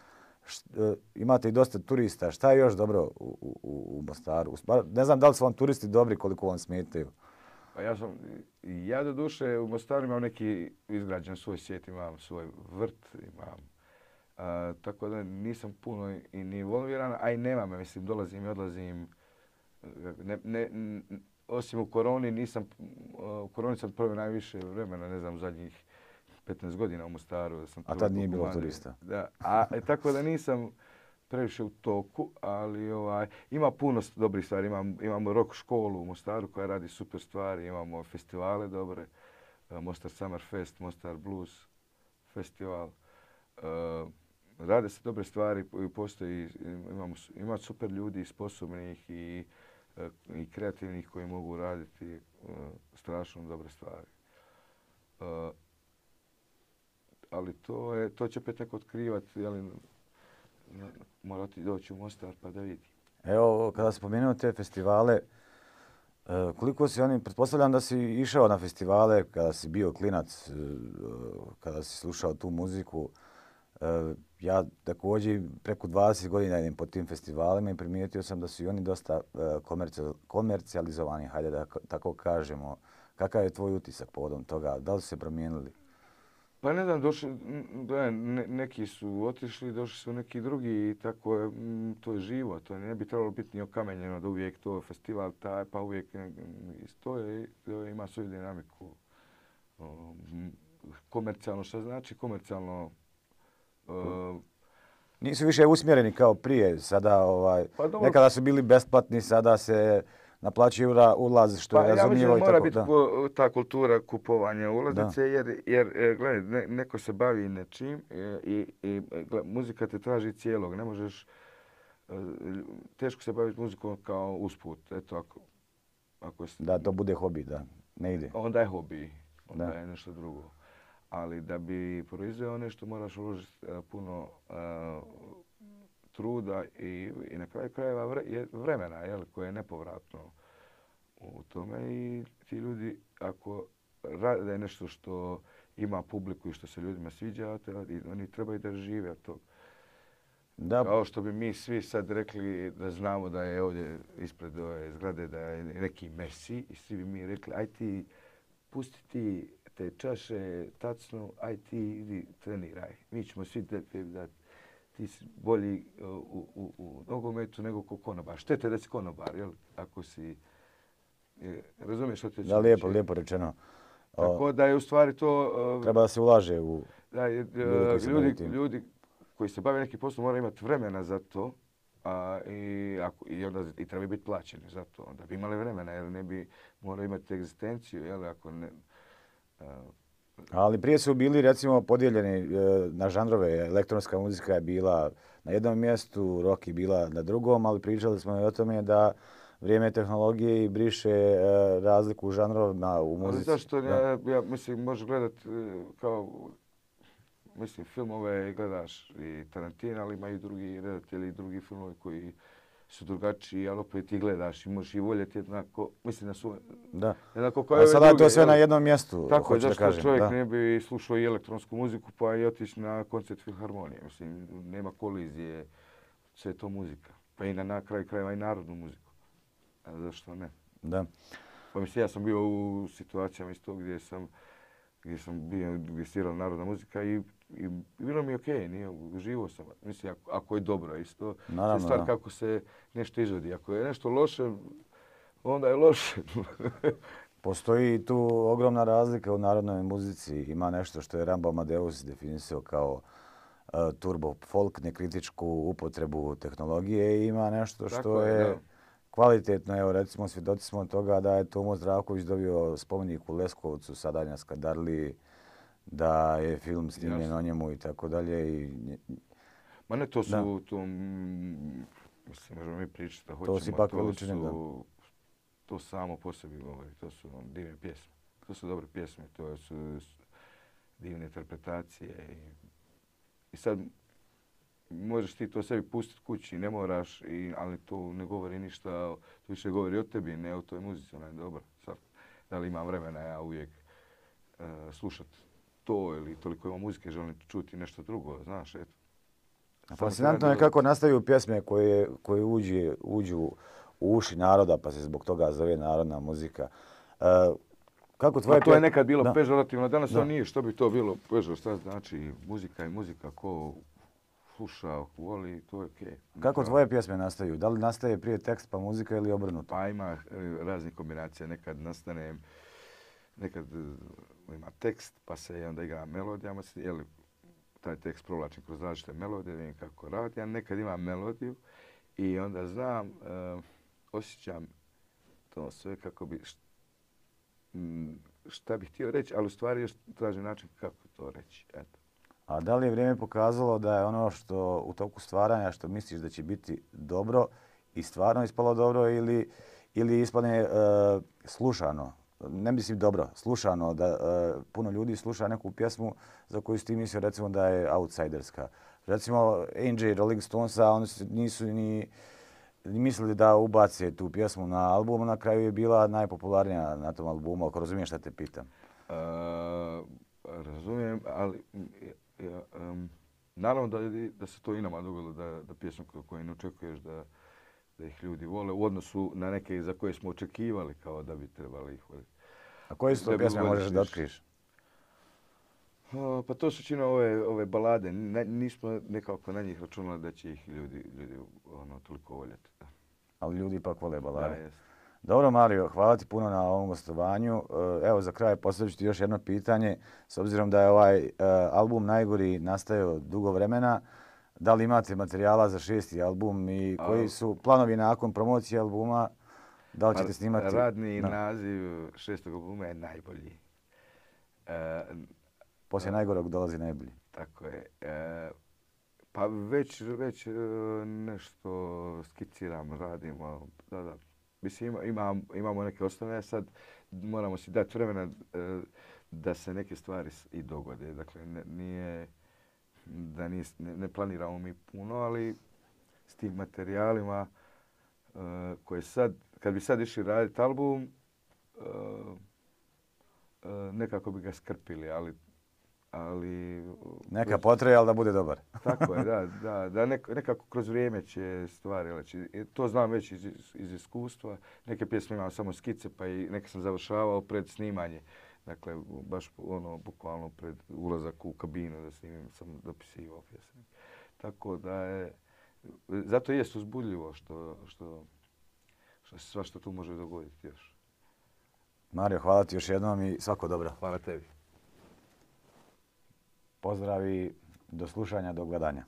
Imate i dosta turista. Šta je još dobro u Mostaru? Ne znam da li su vam turisti dobri, koliko vam smetaju. Pa ja do duše u Mostaru imam neki izgrađen svoj svijet, imam svoj vrt, imam. Tako da nisam puno i ni involviran, a i nemam, mislim, dolazim i odlazim. Osim u koroni, u koroni sam proveo najviše vremena, ne znam, zadnjih 15 godina u Mostaru. A tad nije bilo turista. Da, tako da nisam previše u toku, ali ima puno dobrih stvari. Imamo rock školu u Mostaru koja radi super stvari, imamo festivale dobre, Mostar Summer Fest, Mostar Blues festival. Rade se dobre stvari, postoji, ima super ljudi sposobnih i kreativnih koji mogu raditi strašno dobre stvari. Ali to će opet neko otkrivati, mora doći u Mostar pa da vidi. Evo, kada spomenuo te festivale, Koliko si oni, pretpostavljam da si išao na festivale kada si bio klinac, kada si slušao tu muziku. Ja također preko 20 godina idem po tim festivalima i primijetio sam da su i oni dosta komercijalizovani, hajde da tako kažemo. Kakav je tvoj utisak povodom toga? Da li su se promijenili? Pa ne znam, neki su otišli, došli su neki drugi i tako je, to je živo. To ne bi trebalo biti ni okamenjeno da uvijek to festival taj, pa uvijek to ima svoju dinamiku. Komercijalno, šta znači komercijalno? Nisu više usmjereni kao prije. Sada, Pa nekada su bili besplatni, sada se naplaćuje ulaz, što je razumljivo. Ja mislim da mora biti ta kultura kupovanja ulaznice, jer gledaj, neko se bavi nečim i muzika te traži cijelog. Ne možeš, teško se baviti muzikom kao usput. Eto, da, to bude hobi, da, ne ide. Onda je hobi, onda je nešto drugo. Ali da bi proizveo nešto moraš uložiti puno truda i na kraju krajeva vremena koje je nepovratno u tome. I ti ljudi, ako rade nešto što ima publiku i što se ljudima sviđa, oni trebaju da žive od toga. Da. Kao što bi mi svi sad rekli da znamo da je ovdje ispred ove zgrade da je neki Messi i svi bi mi rekli aj ti pusti ti te čaše, tacnu, aj ti idi treniraj. Mi ćemo svi da ti si bolji u nogometu nego ko konobar. Štete da si konobar, jel? Ako si... Razumiješ što te ću reći? Da, lijepo rečeno. Tako da je u stvari to... Treba da se ulaže u... Da, ljudi koji se bave nekim poslom moraju imati vremena za to i onda i trebaju biti plaćeni za to. Onda bi imali vremena jer ne bi morali imati egzistenciju, jel? Ako ne... Ali prije su bili recimo podijeljeni na žanrove. Elektronska muzika je bila na jednom mjestu, rock je bila na drugom, ali pričali smo i o tome da vrijeme tehnologije i briše razliku u žanrovima u muzici. Ali zašto? Ja mislim, možeš gledati kao filmove gledaš i Tarantina, ali ima i drugi redatelji i drugi filmovi koji su drugačiji, ali opet ti gledaš i možeš i voljeti jednako, mislim na svoj... Da. Jednako kao sada je to sve na jednom mjestu, tako je, zašto kažem, čovjek ne bi slušao i elektronsku muziku pa i otići na koncert Filharmonije. Mislim, nema kolizije, sve je to muzika. Pa i na kraju krajeva i narodnu muziku. A zašto ne? Da. Pa mislim, ja sam bio u situacijama isto gdje sam bio, gdje svirala narodna muzika i bilo mi je okej, nije, uživo sam. Mislim, ako je dobro isto, naravno, stvar kako se nešto izvodi. Ako je nešto loše, onda je loše. Postoji tu ogromna razlika u narodnoj muzici. Ima nešto što je Rambo Amadeus definisao kao turbo folk, nekritičku upotrebu tehnologije i ima nešto što je kvalitetno. Evo, recimo, svjedoci smo toga da je Tomo Zdravković dobio spomenik u Leskovcu, Sadanja Skadarliji, da je film snimljen o njemu i tako dalje. Ma ne, to su, mislim, možemo mi pričati da hoćemo. To si ipak veličine, da. To samo po sebi govori, to su divne pjesme. To su dobre pjesme, to su divne interpretacije. I sad možeš ti to sebi pustiti kući, ne moraš, ali to ne govori ništa, to više govori o tebi, ne o toj muzici, ona je dobra. Sad, da li imam vremena ja uvijek slušati to ili toliko imam muzike, želim čuti nešto drugo, znaš, eto. Fascinantno je kako nastaju pjesme koje uđu u uši naroda, pa se zbog toga zove narodna muzika. Kako tvoje... To je nekad bilo pežorativno, danas to nije. Što bi to bilo pežorativno? Šta znači muzika i muzika, ko sluša, voli, to je okej. Kako tvoje pjesme nastaju? Da li nastaje prije tekst pa muzika ili obrnuto? Pa ima raznih kombinacija. Nekad nastane, nekad ima tekst pa se onda igra melodijama. Taj tekst provlačim kroz različite melodije, vidim kako radi. Ja nekad imam melodiju i onda znam, osjećam to sve kako bi, šta bih htio reći, ali u stvari još tražim način kako to reći. Eto. A da li je vrijeme pokazalo da je ono što u toku stvaranja što misliš da će biti dobro i stvarno ispalo dobro ili ispadne slušano? Ne mislim dobro, slušano, da puno ljudi sluša neku pjesmu za koju si ti mislio recimo da je outsiderska. Recimo Angie Rolling Stonesa, oni nisu ni mislili da ubace tu pjesmu na album, na kraju je bila najpopularnija na tom albumu, ako razumiješ šta te pitam. Razumijem, ali naravno da se to i nama dogodilo, da pjesmu koju ne očekuješ da ih ljudi vole u odnosu na neke za koje smo očekivali kao da bi trebali ih voljeti. A koje su to pjesme možeš da otkriješ? Pa to su čine ove balade. Nismo nekako na njih računali da će ih ljudi toliko voljeti. Da. Ali ljudi ipak vole balade. Da, jest. Dobro, Mario, hvala ti puno na ovom gostovanju. Evo, za kraj postavit ću ti još jedno pitanje. S obzirom da je ovaj album Najgori nastajao dugo vremena, da li imate materijala za 6. album i koji su planovi nakon promocije albuma? Da li ćete snimati? Radni naziv 6. albuma je Najbolji. Poslije najgorog dolazi najbolji. Tako je. Pa već nešto skiciram, radimo. Da. Mislim, imamo neke osnove, sad moramo si dati vremena da se neke stvari i dogode. Dakle, ne planiramo mi puno, ali s tim materijalima koje sad, kad bi sad išli raditi album, nekako bi ga skrpili, ali neka potraje, ali da bude dobar. Tako je, da nekako kroz vrijeme će stvari leći. To znam već iz iskustva. Neke pjesme imam samo skice, pa i neke sam završavao pred snimanje. Dakle, baš bukvalno pred ulazak u kabinu da snimim, sam dopisivao pjesme. Tako da je, zato jest uzbudljivo što se svašta tu može dogoditi još. Mario, hvala ti još jednom i svako dobro. Hvala tebi. Pozdrav i do slušanja, do gledanja.